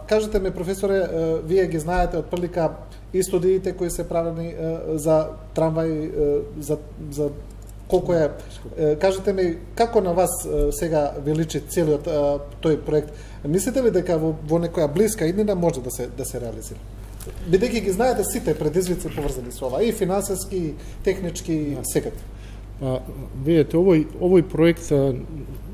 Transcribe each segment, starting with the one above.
Кажете ми, професоре, вие ги знаете од прилика и студиите кои се правени за трамвај, за колку е. Кажете ми, како на вас сега ви личи целиот тој проект? Мислите ли дека во некоја блиска иднина може да се реализира? Бидејќи ги знаете сите предизвици поврзани со ова, и финансиски, и технички, секако. Видете, овој проект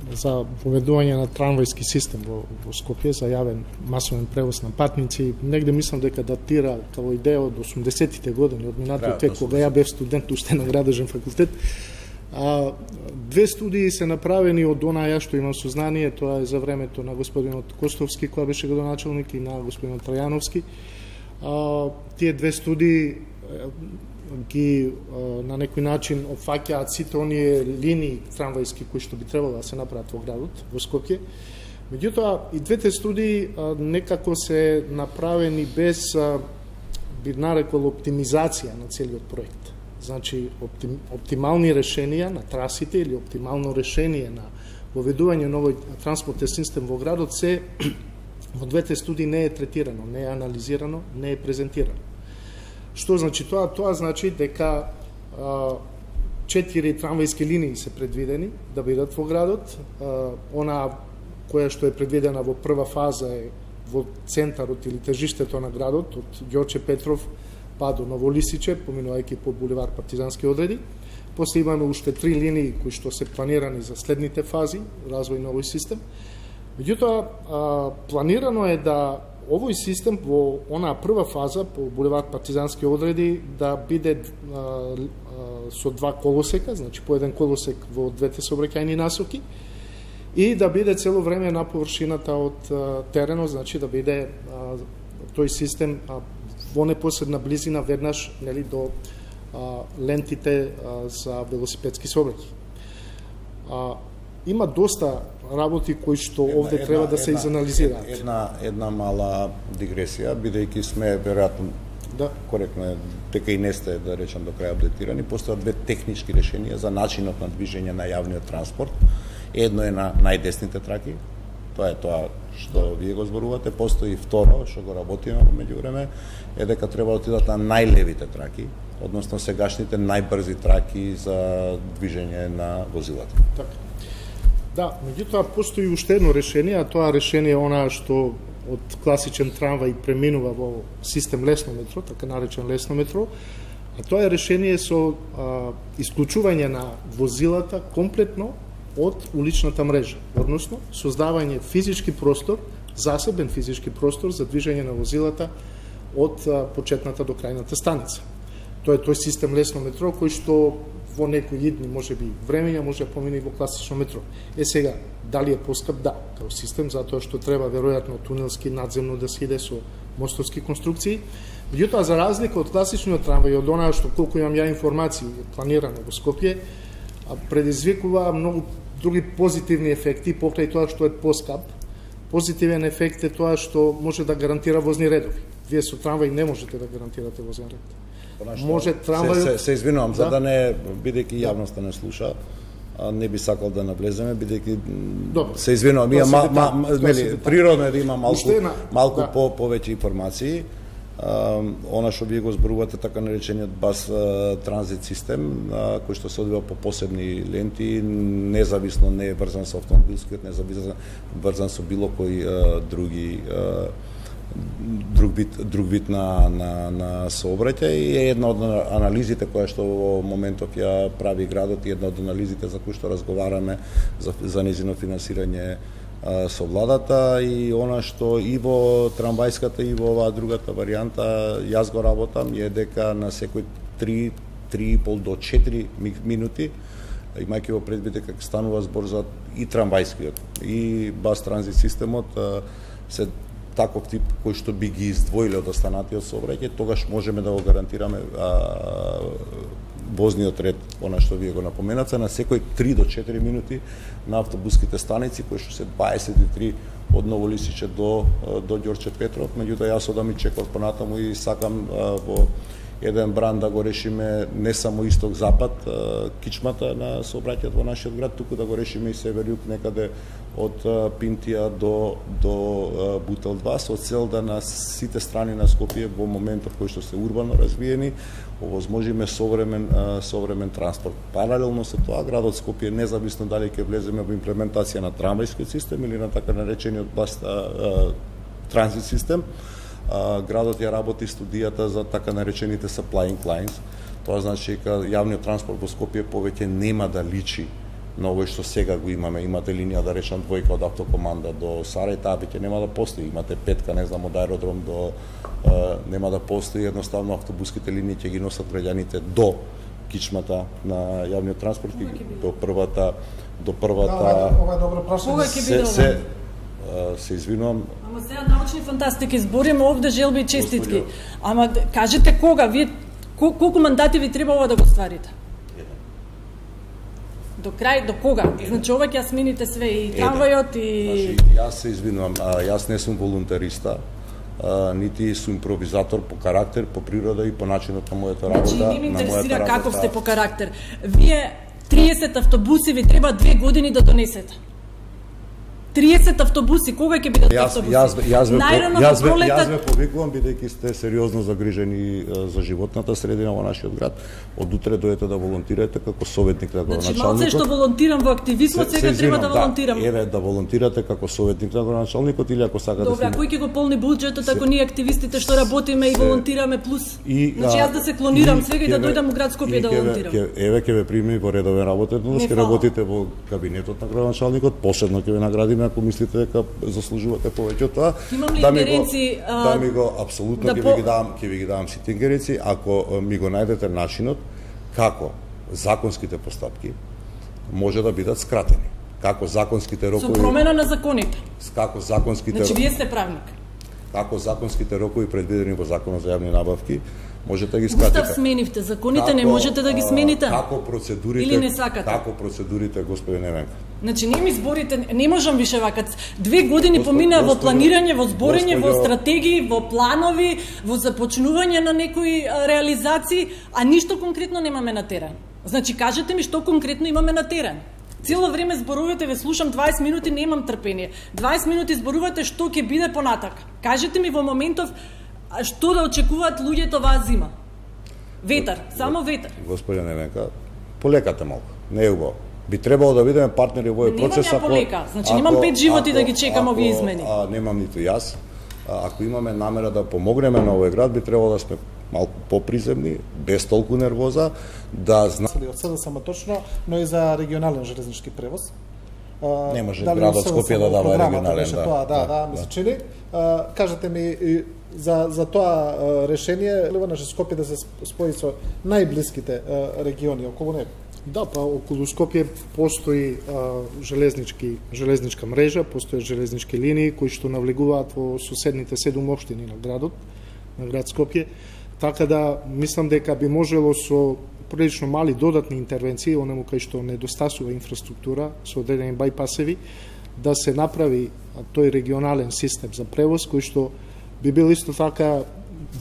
за поведување на трамвајски систем во Скопје за јавен масовен превоз на патници, негде мислам дека датира како идеја од 80-тите години, од минатиот век, кога ја бев студент уште на градежен факултет. Две студии се направени од онаа што имам сознание, тоа е за времето на господинот Костовски, која беше градоначалник, и на господинот Трајановски. Тие две студии ги на некој начин опфаќаат сите оние линии трамвајски кои што би требало да се направат во градот, во Скопје. Меѓутоа, и двете студии некако се направени без, би нарекол, оптимизација на целиот проект. Значи, оптимални решенија на трасите или оптимално решение на воведување на овој транспортен систем во градот се во двете студии не е третирано, не е анализирано, не е презентирано. Што значи тоа? Тоа значи дека 4 трамвајски линии се предвидени да бидат во градот. Она која што е предвидена во прва фаза е во центарот или тежиштето на градот, од Ѓорче Петров па до Новолисиче, поминувајќи по булевар Партизански одреди. После имаме уште 3 линии кои што се планирани за следните фази, развој на овој систем. Меѓутоа, планирано е да овој систем во онаа прва фаза по булевар Партизански одреди да биде со 2 колосека, значи по еден колосек во двете сообраќајни насоки, и да биде цело време на површината од теренот, значи да биде тој систем во непосредна близина веднаш, нели, до лентите за велосипедски сообраќај. Има доста работи кои што овде треба да се изанализираат. Една мала дигресија, бидејќи сме веројатно коректно е дека и не сте, да речем, до крај апдетирани, постојат две технички решенија за начинот на движење на јавниот транспорт. Едно е на најдесните траки, тоа е тоа што вие го зборувате, постои второ што го работиме во меѓувреме, е дека треба да отидат на најлевите траки, односно сегашните најбрзи траки за движење на возилата. Така. Да, меѓутоа постои уште едно решение, а тоа решение е она што од класичен трамвај преминува во систем лесно метро, така наречен лесно метро, а тоа е решение со исклучување на возилата комплетно од уличната мрежа, односно создавање физички простор, засебен физички простор за движење на возилата од почетната до крајната станица. Тоа е тој систем лесно метро кој што во некои идни, може би времења, може да помине и во класично метро. Сега, дали е поскап? Да, како систем, затоа што треба веројатно тунелски надземно да се иде со мостовски конструкции. Меѓутоа, за разлика од класичниот трамвај, од онаа што колку имам ја информации планирано во Скопје, предизвикува многу други позитивни ефекти покрај тоа што е поскап. Позитивен ефект е тоа што може да гарантира возни редови. Вие со трамвај не можете да гарантирате возен ред. Може трамвајот... Се извинувам, за да не, бидејќи јавноста не слуша, не би сакал да навлеземе, бидејќи се извинувам, природно е да има малку повеќе информации. Она што вие го зборувате, така наречениот бас транзит систем, кој што се одвива по посебни ленти, независно не е врзан со автомобилскиот, независно врзан со било кој друг вид на сообраќај, и е една од анализите која што во моментов ја прави градот, и една од анализите за кои што разговараме за незино финансирање со владата, и она што и во трамвајската и во оваа другата варијанта јас го работам е дека на секој 3,5 до 4 минути, имајќи во предвид дека станува збор за и трамвајскиот и бас транзит системот, се таков тип кој што би ги издвоиле од останатиот сообраќај, тогаш можеме да го гарантираме возниот ред, она што вие го напоменате, на секој 3 до 4 минути на автобуските станици, кои што се 23 од Новолисиче до Ѓорче Петров. Меѓутоа, јас одам и чекав понатаму и сакам во еден бран да го решиме не само исток-запад, кичмата на сообраќајот во нашиот град, туку да го решиме и север-југ некаде од Пинтија до Бутел 2, со цел да на сите страни на Скопје во моментот кој што се урбано развиени, овозможиме современ транспорт. Паралелно со тоа, градот Скопје, независно дали ќе влеземе во имплементација на трамвајскиот систем или на така наречениот транзит систем, градот ја работи студијата за така наречените supplying lines. Тоа значи дека јавниот транспорт во Скопје повеќе нема да личи на овој што сега го имаме. Имате линија, да речам, двојка од автокоманда до Сарај, таа веќе нема да постои. Имате петка, не знам, од аеродром до нема да постои, едноставно автобуските линии ќе ги носат граѓаните до кичмата на јавниот транспорт и до првата ова е добро прашање. Кога ќе биде ова? Се извинувам. Ама сега научни фантастики збориме овде, желби и честитки. Ама кажете кога, вие колку мандати ви треба ова да го стварите? До крај, до кога? Значи ова ќе смените све, и трамвајот и... Значи, јас се извинувам, јас не сум волонтериста, нити сум импровизатор по карактер, по природа и по начинот на мојата работа. Значи, не ме интересира каков сте по карактер. Вие 30 автобуси ви треба 2 години да донесете. 30 автобуси, кога ќе бидат автобуси? Јас ве повикувам, бидејќи сте сериозно загрижени за животната средина во нашиот град. Од утре дојдете да волонтирате како советник на градоначалникот. Значи, малце што волонтирам во активизмот, сега треба да волонтирам. Еве, да волонтирате како советник на градоначалникот или ако сакате... Добре, кој ќе го полни буџетот ако ние активистите што работиме и волонтираме плюс? Значи, јас да се клонирам сега и да дојдам у град Скопје да волонтирам. Еве, ќе ве прими во редовен работен однос, ќе работите во кабинетот на градоначалникот, посебно ќе ве наградиме ако мислите дека заслужувате повеќе од тоа. Имам ли ингеренци? Да ми го апсолутно ќе ви ги давам сите ингеренци, ако ми го најдете начинот како законските постапки може да бидат скратени. Како законските рокови... Со промена на законите. Како законските... Значи, вие сте правник. Како законските рокови предвидени во Законот за јавни набавки можете да ги скратите. Устав сменивте, законите не можете да ги смените. Како процедурите... Или не сакате? Како процедурите, господи Неменка? Значи, не ми зборите, не можам више вака. 2 години поминаа во планирање, во зборење, во стратегии, во планови, во започнување на некои реализации, а ништо конкретно немаме на терен. Значи, кажете ми што конкретно имаме на терен. Цело време зборувате, ве слушам 20 минути, немам трпение. 20 минути зборувате што ќе биде понатак. Кажете ми во моментов што да очекуваат луѓето оваа зима. Ветар, само ветар. Господи Неменка, полекате малку, не е убаво. Би требало да бидеме партнери во овој процес. Немам ја полека, значи немам 5 животи да ги чекам овие измени. Немам ниту јас. Ако имаме намера да помогнеме на овој град, би требало да сме малку поприземни, без толку нервоза, да знаеме од СДСМ точно, но и за регионален железнички превоз. Не може градот Скопје да дава регионален, да, ми се чини. Кажете ми за тоа решение, Ливана Скопје да се спои со најблиските региони околу него. Да, па околу Скопје постои железничка мрежа, постои железнички линии кои што навлегуваат во соседните 7 општини на градот, на град Скопје, така да мислам дека би можело со прилично мали додатни интервенции, онему кај што недостасува инфраструктура, со одредени бајпасеви, да се направи тој регионален систем за превоз, кој што би бил исто така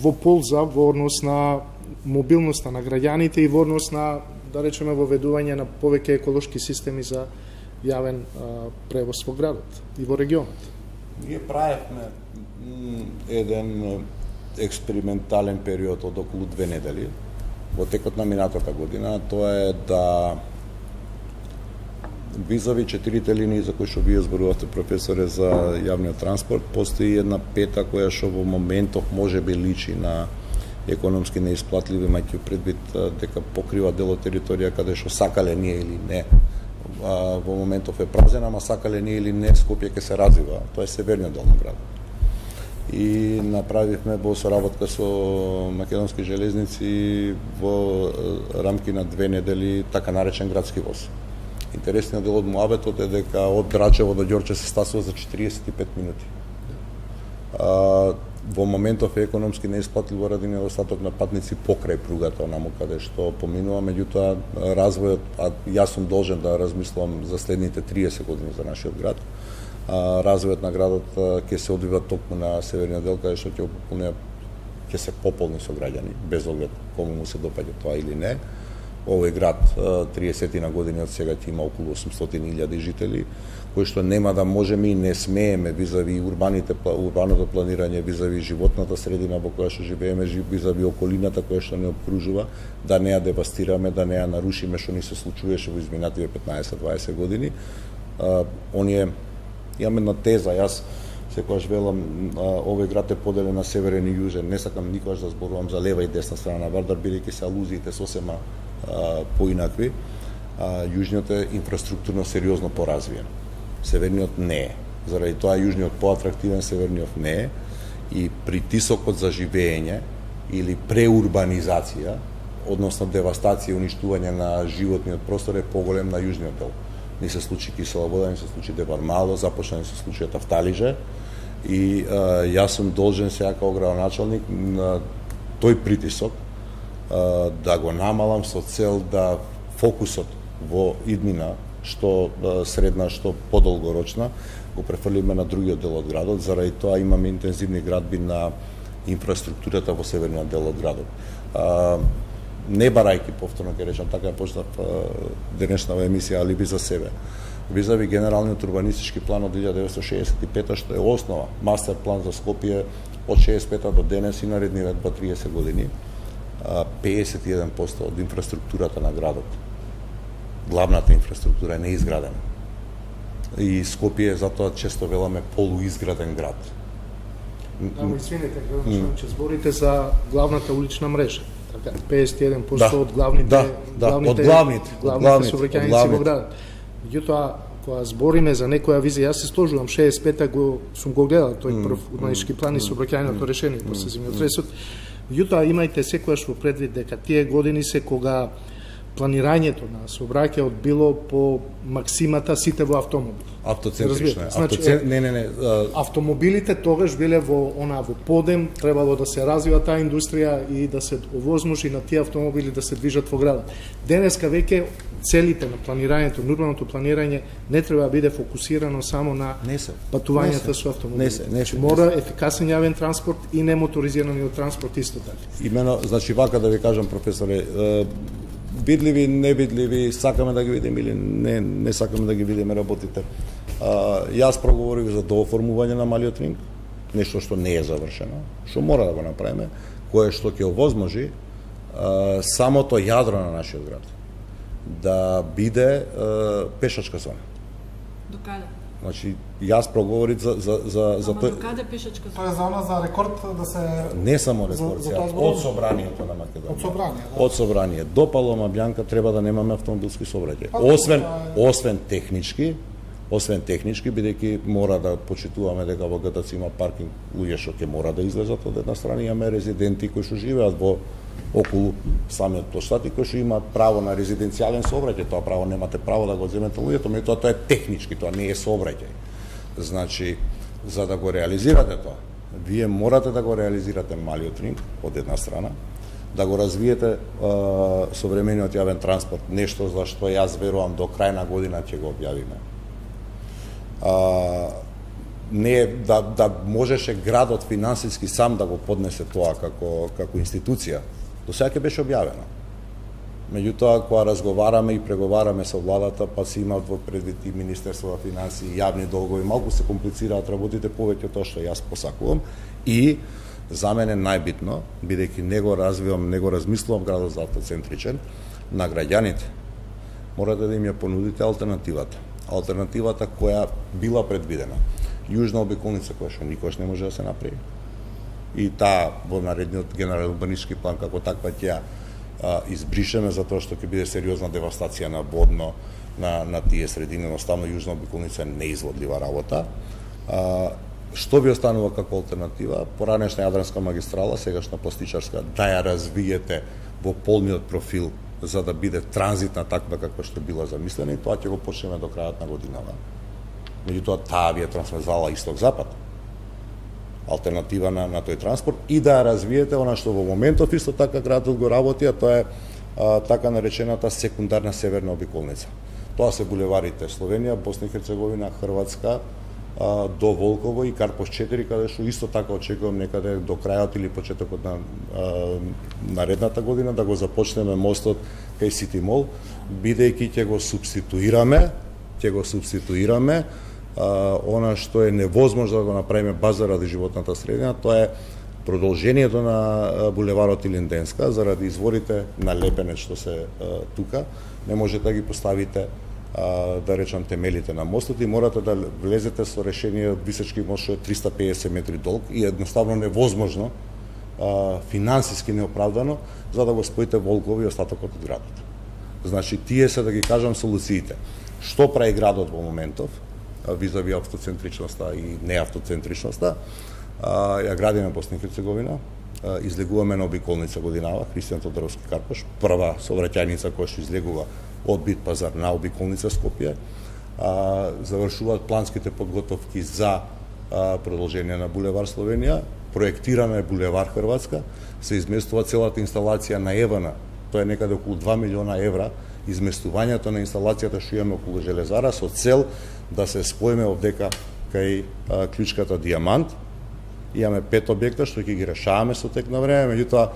во полза, во однос на мобилноста на граѓаните и во однос на, да речеме, воведување на повеќе еколошки системи за јавен превоз во градот и во регионот. Ние правевме еден експериментален период од околу 2 недели во текот на минатата година. Тоа е да визави 4 линии за кои што вие зборувавте, професоре, за јавниот транспорт, постои една пета која што во моментов може би личи на економски неисплатливи, имајќи предвид дека покрива дел од територија каде што сакале ние или не. Во моментов е празен, ама сакале ние или не, Скопје ќе се развива. Тоа е северниот дел на градот. И направивме во соработка со Македонски железници во рамки на 2 недели така наречен градски воз. Интересниот дел од муабетот е дека од Драчево до Ѓорче се стасува за 45 минути. Во моментов е економски неисплатливо ради недостаток на патници покрај пругата, онаму каде што поминува, меѓутоа развојот, јас сум должен да размислам за следните 30 години за нашиот град. Развојот на градот ќе се одвива токму на северниот дел, каде што ќе опуне ќе се пополни со граѓани, без оглед кому му се допаѓа тоа или не. Овој град 30 на години од сега ќе има околу 800.000 жители, кои што нема да можеме и не смееме визави урбаното планирање, визави животната средина во која што живееме, визави околината која што не обкружува, да не ја девастираме, да не ја нарушиме што ни се случуваше во изминативе 15-20 години. Имам една теза, јас секогаш велам, овој град е поделен на северен и јужен, не сакам никогаш да зборувам за лева и десна страна на Вардар, бидејќи се алузиите сосема поинакви. Јужниот е инфраструктурно сериозно поразвиен. Северниот не е. Заради тоа јужниот поатрактивен, северниот не е. И притисокот за живење или преурбанизација, односно девастација и уништување на животниот простор е поголем на јужниот дел. Ни се случи Кисела Вода, ни се случи Девар Мало, започна ни се случи Тафталиже. И јас сум должен сега како градоначалник на тој притисок да го намалам со цел да фокусот во иднина, што средна, што подолгорочна, го префрлиме на другиот дел од градот. Заради тоа имаме интензивни градби на инфраструктурата во северниот дел од градот. Не барајки, повторно ќе речам, така почнав денешнава емисија алиби за себе. Визави генералниот урбанистички план од 1965 што е основа, мастер план за Скопје од 65 до денес и наредниве 30 години, 51% од инфраструктурата на градот, главната инфраструктура е неизградена. И Скопје затоа често веламе полуизграден град. Извинете, ќе зборите за главната улична мрежа. 51% од главните сообраќајници во градот. Меѓутоа, кога збориме за некоја визија, јас се сложувам 65-та сум го гледал тој прв урбанистички план и сообраќајното решение по сезимиот ресурс. Меѓутоа, имајте секогаш во предвид дека тие години се кога планирањето на сообраќајот било по максимата сите во автомобили. Автоцентрично. Значи, автомобилите тогаш биле во подем, требало да се развива таа индустрија и да се овозможи на тие автомобили да се движат во градот. Денеска веќе целите на планирањето, на урбаното планирање не треба да биде фокусирано само на патувањата со автомобили. Мора ефикасен јавен транспорт и немоторизираниот транспорт исто така. Имено, значи вака да ви кажам, професоре, видливи, невидливи, сакаме да ги видиме или не сакаме да ги видиме работите. Јас проговорив за дооформување на малиот ринг, нешто што не е завршено, што мора да го направиме, кое што ќе овозможи самото јадро на нашиот град да биде пешачка зона. До каде? Значи, јас проговорив за тој. До каде пешачка зона? Тоа е зона за рекорд да се не само рекорд, од собранието на Македонија. Од собрание, да. Од собрание до Палома Бјанка треба да немаме автомобилски сообраќај. Освен технички, бидејќи мора да почитуваме дека во ГТЦ има паркинг, луѓе што ќе мора да излезат од една страна, имаме резиденти кои што живеат во околу самиот плоштад и кои што имаат право на резиденцијален сообраќај, тоа право немате право да го земете луѓето, меѓутоа тоа е технички, тоа не е сообраќај. Значи, за да го реализирате тоа, вие морате да го реализирате малиот ринг од една страна, да го развиете современиот јавен транспорт, нешто за што јас верувам до крај на година ќе го објавиме. Не да можеше градот финансиски сам да го поднесе тоа како институција, до сега ќе беше објавено. Меѓутоа, кога разговараме и преговараме со владата, па се имаат во предвид и Министерство за финансии, јавни долгови, малку се комплицираат работите повеќе од тоа што јас посакувам и за мене најбитно, бидејќи не го развивам, не го размислувам градот за автоцентричен, на граѓаните морате да им ја понудите алтернативата. Алтернативата која била предвидена. Јужна обиколница која што никош не може да се направи. И таа во наредниот генерален урбанистички план како таква ќе избришеме затоа што ќе биде сериозна девастација на водно на тие средини, едноставно јужна обиколница е неизводлива работа. Што ви останува како алтернатива? Поранешна Јадранска магистрала, сегашна пластичарска, да ја развиете во полниот профил за да биде транзитна таква каква што била замислена и тоа ќе го почнеме до крајот на годината. Меѓутоа, таа ви е трансверзала исток-запад, алтернатива на тој транспорт и да ја развиете она што во моментов исто така градот го работи, а тоа е така наречената секундарна северна обиколница. Тоа се булеварите Словенија, Босна и Херцеговина, Хрватска, до Волково и Карпош 4, каде што исто така очекувам некаде до крајот или почетокот на наредната година да го започнеме мостот кај Сити Мол, бидејќи ќе го субституираме она што е невозможно да го направиме баш заради животната средина, тоа е продолжението на булеварот Илинденска, заради изворите на лепенец што се тука, не можете да ги поставите да речам темелите на мостот и морате да влезете со решение од височки мост што е 350 метри долг и едноставно невозможно, финансиски неоправдано, за да го споите Волково и остатокот од градот. Значи, тие се, да ги кажам, солуциите. Што прави градот во моментов, визави автоцентричноста и неавтоцентричноста, ја градиме Босна и Херцеговина, излегуваме на обиколница годинава, Христијан Тодоровски Карпош, прва сообраќајница која што излегува од Бит пазар на обиколница Скопје, завршуваат планските подготовки за продолжение на булевар Словенија, проектирана е булевар Хрватска, се изместува целата инсталација на Евана, тоа е некаде околу 2 милиона евра, изместувањето на инсталацијата што имаме околу железара со цел да се споиме овдека кај клучката Диамант. Имаме 5 објекта што ќе ги решаваме со тек на време, меѓутоа